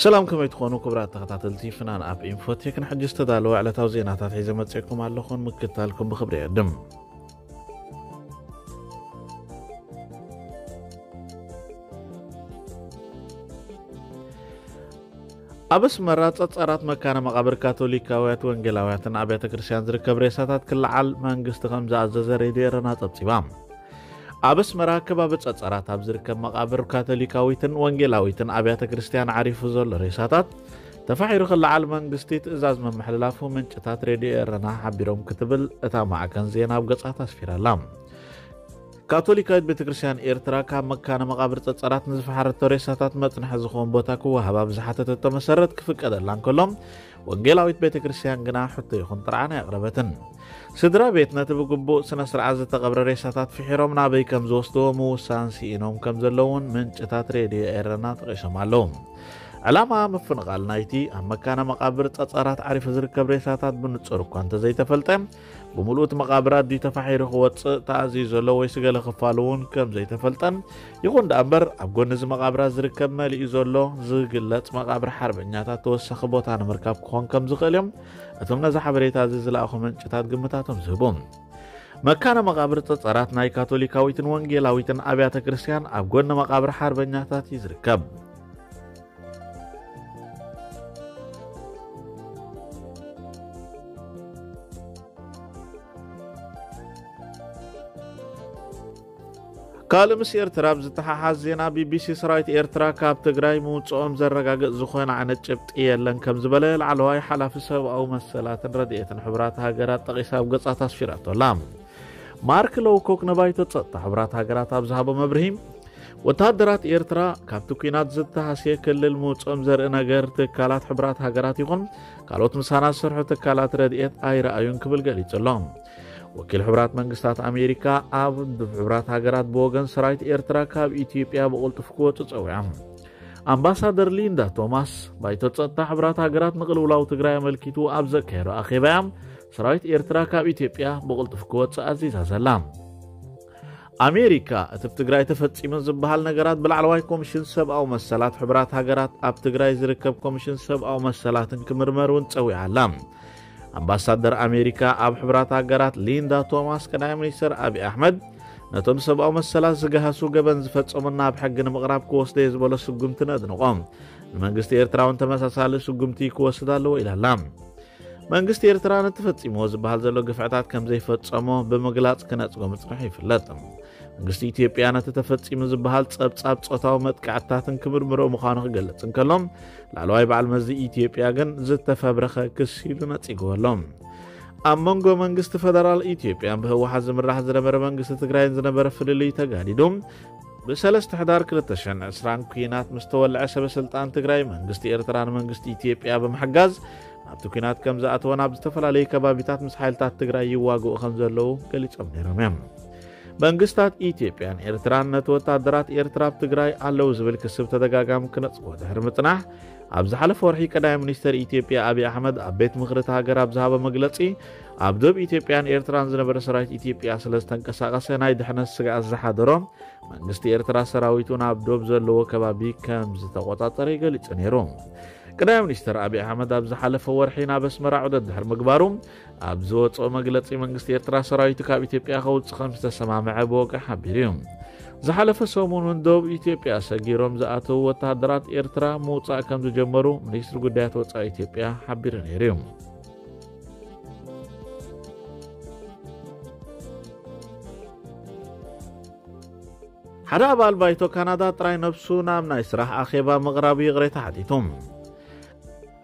ሰላም፣ ከመይ ትኾኑ ክቡራት ተኸታተልቲ ፍናን ኣፕ ኢንፎቴክ? ንሕጂ ዝተዳለወ ዕለታዊ ዜናታት ሒዘ መጺእኩም ኣለኹን፣ ምክታልኩም ብኽብሪ የዕድም። ኣብ ኣስመራ ጸጸራት መካነ መቓብር ካቶሊካውያት ወንጌላውያትን ኣብያተ ክርስቲያን ዝርከብ ሬሳታት ክለዓል መንግስቲ ከም ዝኣዘዘ ሬድዮ ኤረና ጸብጺባ። ኣብ ኣስመራ ከባቢ ጸጸራት ኣብ ዝርከብ መቓብር ካቶሊካዊትን ወንጌላዊትን ኣብያተ ክርስቲያን ዓሪፉ ዘሎ ሬሳታት ተፋሒሩ ክለዓል መንግስቲ ትእዛዝ ምምሕልላፉ ምንጭታት ሬድዮ ኤረና ሓቢሮም ክትብል እታ ማዕከን ዜና ኣብ ገጻት ኣስፊራላ። ካቶሊካዊት ቤተ ክርስቲያን ኤርትራ ካብ መካነ መቓብር ጸጸራት ንዝፈሓረቶ ሬሳታት መጽንሒ ዝኸውን ቦታ ክወሃባ ብዝሓተተቶ መሰረት ክፍቀደላ እንከሎ፣ ወንጌላዊት ቤተ ክርስቲያን ግና ሕቶ ይኹን ጥርዓን ኣየቕረበትን። ስድራ ቤት ነቲ ብግቡእ ስነ ስርዓት ዝተቐብረ ሬሳታት ፍሒሮም ናበይ ከም ዝወስድዎ ምውሳን ስኢኖም ከም ዘለውን ምንጭታት ሬድዮ ኤረና ጠቒሶም ኣለዉ። ዕላማ ምፍንቓል ናይቲ ኣብ መካነ መቓብር ጸጸራት ዓሪፉ ዝርከብ ሬሳታት ብንጹር እኳ እንተዘይተፈልጠ፣ ብምሉእ እቲ መቓብር ኣድዩ ተፋሒሩ ክወጽእ ተኣዝዩ ዘሎ ወይስ ገለ ክፋሉ እውን ከም ዘይተፈልጠን፣ ይኹን ደኣ እምበር ኣብ ጎኒ እዚ መቓብራት ዝርከብ መሊኡ ዘሎ ዝግለጽ መቓብር ሓርበኛታት ተወሳኺ ቦታ ንምርካብ ክኾን ከም ዝኽእል እዮም እቶም ነዚ ሓበሬታ እዚ ዝለኣኹ ምንጭታት ግምታቶም ዝህቡ። መካነ መቓብር ጸጸራት ናይ ካቶሊካዊትን ወንጌላዊትን ኣብያተ ክርስቲያን ኣብ ጎኒ መቓብር ሓርበኛታት እዩ ዝርከብ። ካልእ ምስ ኤርትራ ኣብ ዝተሓሓዝ ዜና፣ ቢቢሲ ሰራዊት ኤርትራ ካብ ትግራይ ምውፅኦም ዘረጋግፅ ዝኾነ ዓይነት ጭብጢ የለን ከም ዝበለ ላዕለዋይ ሓላፊ ሰብኣዊ መሰላትን ረድኤትን ሕቡራት ሃገራት ጠቒሳ ኣብ ገጻት ኣስፊራቶ ኣላ። ማርክ ሎውኮክ ንባይቶ ጸጥታ ሕቡራት ሃገራት ኣብ ዝሃቦ መብርሂ፣ ወተሃደራት ኤርትራ ካብቲ ኲናት ዝተሃስየ ክልል ምውፅኦም ዘርኢ ነገር ትካላት ሕቡራት ሃገራት ይኹን ካልኦት ምሳና ዝሰርሑ ትካላት ረድኤት ኣይረኣዩን ክብል ገሊጹ ኣሎ። ወኪል ሕቡራት መንግስታት ኣሜሪካ ኣብ ውድብ ሕቡራት ሃገራት ብወገን ሰራዊት ኤርትራ ካብ ኢትዮጵያ ብቕልጡፍ ክወጹ ጸዊዖም። ኣምባሳደር ሊንዳ ቶማስ ባይቶ ጸጥታ ሕቡራት ሃገራት ንቅልውላው ትግራይ ኣመልኪቱ ኣብ ዘካየዶ ኣኼባ እያ ሰራዊት ኤርትራ ካብ ኢትዮጵያ ብቕልጡፍ ክወጽእ ኣዚዛ ዘላ። ኣሜሪካ እቲ ኣብ ትግራይ ተፈጺሙ ዝበሃል ነገራት ብላዕለዋይ ኮሚሽን ሰብኣዊ መሰላት ሕቡራት ሃገራት ኣብ ትግራይ ዝርከብ ኮሚሽን ሰብኣዊ መሰላትን ክምርመር እውን ጸዊዓ ኣላ። ኣምባሳደር ኣሜሪካ ኣብ ሕቡራት ሃገራት ሊንዳ ቶማስ ቀዳማይ ሚኒስትር ኣብይ ኣሕመድ ነቶም ሰብኣዊ መሰላት ዝገሃሱ ገበን ዝፈጸሙ ናብ ሕጊ ንምቕራብ ክወስዶ እየ ዝበሎ ስጉምቲ ነድንቖ። ንመንግስቲ ኤርትራ እውን ተመሳሳሊ ስጉምቲ ክወስድ ኣለዎ ኢላ ኣላ። መንግስቲ ኤርትራ ነቲ ፈጺምዎ ዝበሃል ዘሎ ግፍዕታት ከም ዘይፈጸሞ ብምግላጽ ክነጽጎ ምጽንሑ ይፍለጥ። መንግስቲ ኢትዮጵያ ነቲ ተፈጺሙ ዝበሃል ጸብጻብ ጾታዊ መጥቃዕትታትን ክምርምሮ ምዃኑ ክገልጽ እንከሎ፣ ላዕለዋይ በዓል መዚ ኢትዮጵያ ግን ዝተፈብረኸ ክሲ ኢሉ ነጺግዎ ኣሎ። ኣብ መንጎ መንግስቲ ፈደራል ኢትዮጵያን ብህወሓት ዝምራሕ ዝነበረ መንግስቲ ትግራይን ዝነበረ ፍልልይ ተጋዲዱ ብሰለስተ ሕዳር ክልተ ሽሕን ዕስራን ኲናት ምስ ተወልዐ፣ ሰበ ስልጣን ትግራይ መንግስቲ ኤርትራ ንመንግስቲ ኢትዮጵያ ብምሕጋዝ ናብቲ ኲናት ከም ዝኣተወን ኣብ ዝተፈላለዩ ከባቢታት ምስ ሓይልታት ትግራይ ይዋግኡ ከም ዘለዉ ገሊጾም ነይሮም እዮም። መንግስታት ኢትዮጵያን ኤርትራን ነቲ ወታደራት ኤርትራ ኣብ ትግራይ ኣለዉ ዝብል ክሲ ብተደጋጋሚ ክነጽጎ ድሕሪ ምጽናሕ፣ ኣብ ዝሓለፈ ወርሒ ቀዳማይ ሚኒስትር ኢትዮጵያ ኣብይ ኣሕመድ ኣብ ቤት ምኽሪ እቲ ሃገር ኣብ ዝሃቦ መግለጺ፣ ኣብ ዶብ ኢትዮጵያን ኤርትራን ዝነበረ ሰራዊት ኢትዮጵያ ስለ ዝተንቀሳቐሰ ናይ ድሕነት ስግኣት ዝሓደሮ፣ መንግስቲ ኤርትራ ሰራዊቱ ናብ ዶብ ዘለዎ ከባቢ ከም ዝተቖጻጸረ ገሊጹ ነይሩ። ቀዳማይ ሚኒስትር ኣብይ ኣሕመድ ኣብ ዝሓለፈ ወርሒ ናብ ኣስመራ ዑደት ድሕሪ ምግባሩ፣ ኣብ ዝወጽኦ መግለጺ መንግስቲ ኤርትራ ሰራዊቱ ካብ ኢትዮጵያ ከውጽእ ከም ዝተሰማምዐ ብወግዒ ሓቢሩ እዩ። ዝሓለፈ ሰሙን እውን ዶብ ኢትዮጵያ ሰጊሮም ዝኣተዉ ወተሃደራት ኤርትራ ምውጻእ ከም ዝጀመሩ ሚኒስትሪ ጉዳያት ወጻኢ ኢትዮጵያ ሓቢሩ ነይሩ እዩ። ሓደ ኣባል ባይቶ ካናዳ ጥራይ ነብሱ ናብ ናይ ስራሕ ኣኼባ ምቕራቡ ይቕሬታ ሓቲቱ።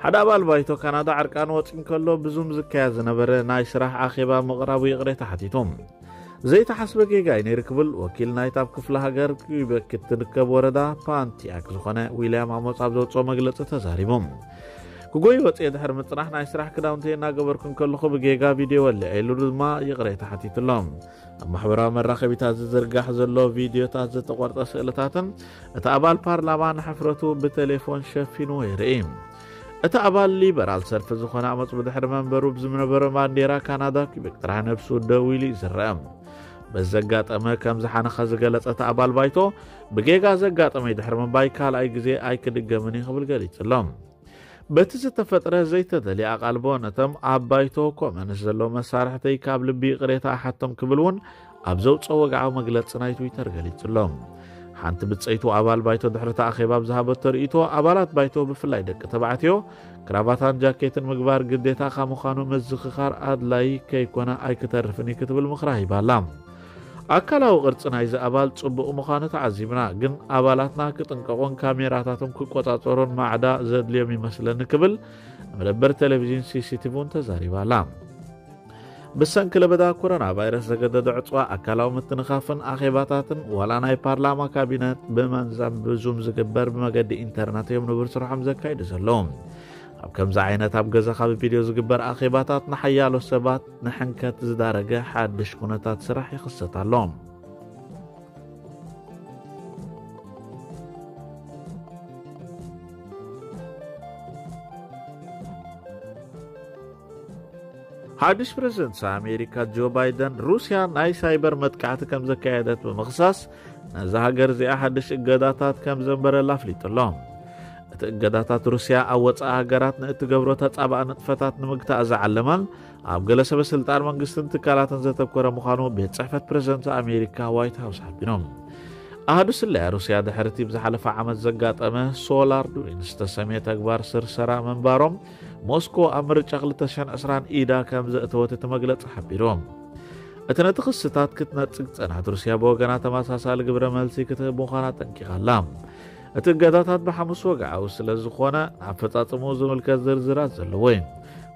ሓደ ኣባል ባይቶ ካናዳ ዕርቃኑ ወጺኡ እንከሎ ብዙም ዝካየድ ዝነበረ ናይ ስራሕ ኣኼባ ምቕራቡ ይቕሬታ ሓቲቱ። ዘይተሓስበ ጌጋ እዩ ነይሩ ክብል ወኪል ናይታ ኣብ ክፍለ ሃገር ኪቤክ እትርከብ ወረዳ ፓንቲያክ ዝኾነ ዊልያም ኣሞስ ኣብ ዘውፅኦ መግለፂ ተዛሪቡ። ክጎይ ወፅየ ድሕሪ ምፅናሕ ናይ ስራሕ ክዳውንቲ እናገበርኩ እንከለኹ ብጌጋ ቪድዮ ወሊዐ ኢሉ ድማ ይቕሬታ ሓቲቱሎም። ኣብ ማሕበራዊ መራኸቢታት ዝዝርጋሕ ዘሎ ቪድዮታት ዝተቖርጸ ስእልታትን እቲ ኣባል ፓርላማ ንሕፍረቱ ብቴሌፎን ሸፊንዎ የርኢ። እቲ ኣባል ሊበራል ሰልፊ ዝኾነ ኣመጽ ብድሕሪ መንበሩ ብዝነበረ ባንዴራ ካናዳ ኪቤክ ጥራሕ ነብሱ ደው ኢሉ እዩ ዝረአ። በዚ ዘጋጠመ ከም ዝሓነኸ ዝገለጸ እቲ ኣባል ባይቶ፣ ብጌጋ ዘጋጠመ ድሕሪ ምባይ ካልኣይ ግዜ ኣይክድገምን እዩ ክብል ገሊጹ ኣሎ። በቲ ዝተፈጥረ ዘይተደልየ ኣቓልቦ ነቶም ኣብ ባይቶ ኮመንስ ዘለዉ መሳርሕተይ ካብ ልቢ ይቕሬታ እሓቶም ክብል እውን ኣብ ዘውፅኦ ወግዓዊ መግለፂ ናይ ትዊተር ገሊጹ ኣሎ። ሓንቲ ብፀይቱ ኣባል ባይቶ ድሕሪ እቲ ኣኼባ ኣብ ዝሃበቶ ርእይቶ፣ ኣባላት ባይቶ ብፍላይ ደቂ ተባዕትዮ ክራቫታን ጃኬትን ምግባር ግዴታ ካብ ምዃኑ ምዝኽኻር ኣድላይ ከይኮነ ኣይክተርፍን እዩ ክትብል ምኽራ ሂባ ኣላ። ኣካላዊ ቅርጺ ናይዚ ኣባል ጽቡቕ ምዃኑ ተዓዚብና፣ ግን ኣባላትና ክጥንቀቑን ካሜራታቶም ክቆጻጸሩን ማዕዳ ዘድልዮም ይመስለኒ ክብል ንመደበር ቴሌቪዥን ሲሲቲቪ እውን ተዛሪባ ኣላ። ብሰንኪ ለበዳ ኮሮና ቫይረስ ዘገደደ ዕጽዋ ኣካላዊ ምትንኻፍን ኣኼባታትን ዋላ ናይ ፓርላማ ካቢነት ብመንዛም ብዙም ዝግበር ብመገዲ ኢንተርነት እዮም ንቡር ስርሖም ዘካይዱ ዘለዉ። ኣብ ከምዚ ዓይነት ኣብ ገዛኻ ብቪድዮ ዝግበር ኣኼባታት ንሓያሎ ሰባት ንሕንከት ዝዳረገ ሓድሽ ኩነታት ስራሕ ይኽሰት ኣሎ። ሓድሽ ፕሬዝደንት ኣሜሪካ ጆ ባይደን፣ ሩስያ ናይ ሳይበር መጥቃዕቲ ከም ዘካየደት ብምኽሳስ፣ ነዛ ሃገር እዚኣ ሓድሽ እገዳታት ከም ዘንበረላ ኣፍሊጡ ኣሎ። እቲ እገዳታት ሩስያ ኣብ ወጻኢ ሃገራት ንእትገብሮ ተጻባእ ንጥፈታት ንምግታእ ዝዓለመን ኣብ ገለ ሰበ ስልጣን መንግስትን ትካላትን ዘተኮረ ምዃኑ ቤት ጽሕፈት ፕሬዝደንት ኣሜሪካ ዋይት ሃውስ ሓቢሩ። ኣሃዱ ስለያ ሩስያ ድሕሪ እቲ ብዝሓለፈ ዓመት ዘጋጠመ ሶላር ዱሪን ዝተሰምየ ተግባር ስርሰራ ምንባሮም፣ ሞስኮ ኣብ ምርጫ ክልተ ሽሕን ዕስራን ኢዳ ከም ዘእተወት እቲ መግለጺ ሓቢሩ። እቲ ነቲ ክስታት ክትነጽግ ጸናት ሩስያ ብወገና ተመሳሳሊ ግብረ መልሲ ክትህብ ምዃና ኣጠንቂቓ ኣላ። እቲ እገዳታት ብሓሙስ ወግዓዊ ስለ ዝኾነ፣ ንኣፈጻጽምኡ ዝምልከት ዝርዝራት ዘለዎ እዩ።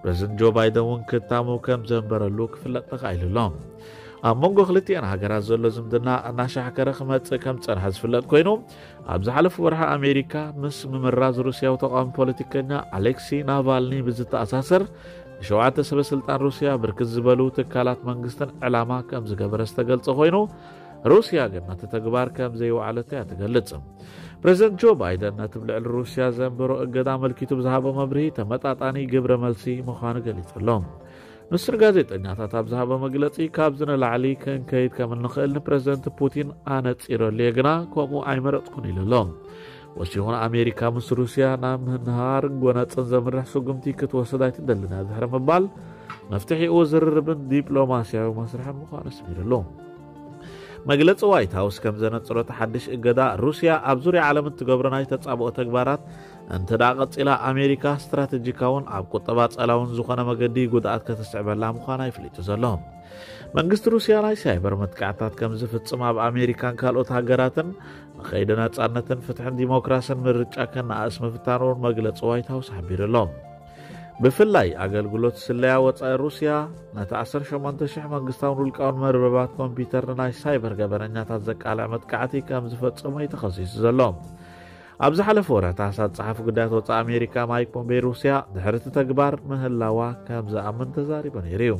ፕሬዝደንት ጆ ባይደን እውን ክታሙ ከም ዘንበረሉ ክፍለጥ ተኻኢሉ ኣሎ። ኣብ መንጎ ክልቲኣን ሃገራት ዘሎ ዝምድና እናሻሕከረ ክመጽእ ከም ዝጸንሐ ዝፍለጥ ኮይኑ፣ ኣብ ዝሓለፈ ወርሒ ኣሜሪካ ምስ ምምራዝ ሩስያዊ ተቃዋሚ ፖለቲከኛ ኣሌክሲ ናቫልኒ ብዝተኣሳሰር ንሸውዓተ ሰበ ስልጣን ሩስያ ብርክት ዝበሉ ትካላት መንግስትን ዕላማ ከም ዝገበረ ዝተገልጸ ኮይኑ፣ ሩስያ ግን ነቲ ተግባር ከም ዘይወዓለቶ እያ ትገልጽ። ፕሬዝደንት ጆ ባይደን ነቲ ብልዕሊ ሩስያ ዘንበሮ እገዳ ኣመልኪቱ ብዝሃቦ መብርሂ ተመጣጣኒ ግብረ መልሲ ምዃኑ ገሊጹ ኣሎ። ንሱ ንጋዜጠኛታት ኣብ ዝሃቦ መግለጺ፣ ካብዚ ንላዕሊ ክንከይድ ከም እንኽእል ንፕሬዝደንት ፑቲን ኣነጺረሉ እየ፣ ግና ከምኡ ኣይመረጽኩን ኢሉ ኣሎ። ወሲኹ ንኣሜሪካ ምስ ሩስያ ናብ ምህንሃርን ጎነጽን ዘምርሕ ስጉምቲ ክትወስድ ኣይትደልን እያ ድሕሪ ምባል፣ መፍትሒኡ ዝርርብን ዲፕሎማስያዊ መስርሕን ምዃኑ ኣስሚሩሉ። መግለጺ ዋይት ሃውስ ከም ዘነጽሮ፣ እቲ ሓድሽ እገዳ ሩስያ ኣብ ዙርያ ዓለም እትገብሮ ናይ ተጻብኦ ተግባራት እንተ ደኣ ቀጺላ፣ ኣሜሪካ ስትራተጂካውን ኣብ ቁጠባ ጸላውን ዝኾነ መገዲ ጉድኣት ከተስዕበላ ምዃና ይፍሊጡ ዘሎ። መንግስቲ ሩስያ ናይ ሳይበር መጥቃዕታት ከም ዝፍጽም ኣብ ኣሜሪካን ካልኦት ሃገራትን ንኸይዲ ነጻነትን ፍትሕን ዲሞክራስን ምርጫ ከነኣእስ ምፍታኑ እውን መግለጺ ዋይት ሃውስ ሓቢሩ ኣሎ። ብፍላይ ኣገልግሎት ስለያ ወጻኢ ሩስያ ነቲ ዓሰርተ ሸሞንተ ሽሕ መንግስታውን ውልቃውን መርበባት ኮምፒውተር ንናይ ሳይበር ገበነኛታት ዘቃልዕ መጥቃዕቲ ከም ዝፈጸሞ እዩ ተኸሲሱ ዘሎ። ኣብ ዝሓለፈ ወርሒ ታሕሳስ ጸሓፊ ጉዳያት ወጻኢ ኣሜሪካ ማይክ ፖምፔዮ ሩስያ ድሕሪ እቲ ተግባር ምህላዋ ከም ዝኣምን ተዛሪቡ ነይሩ እዩ።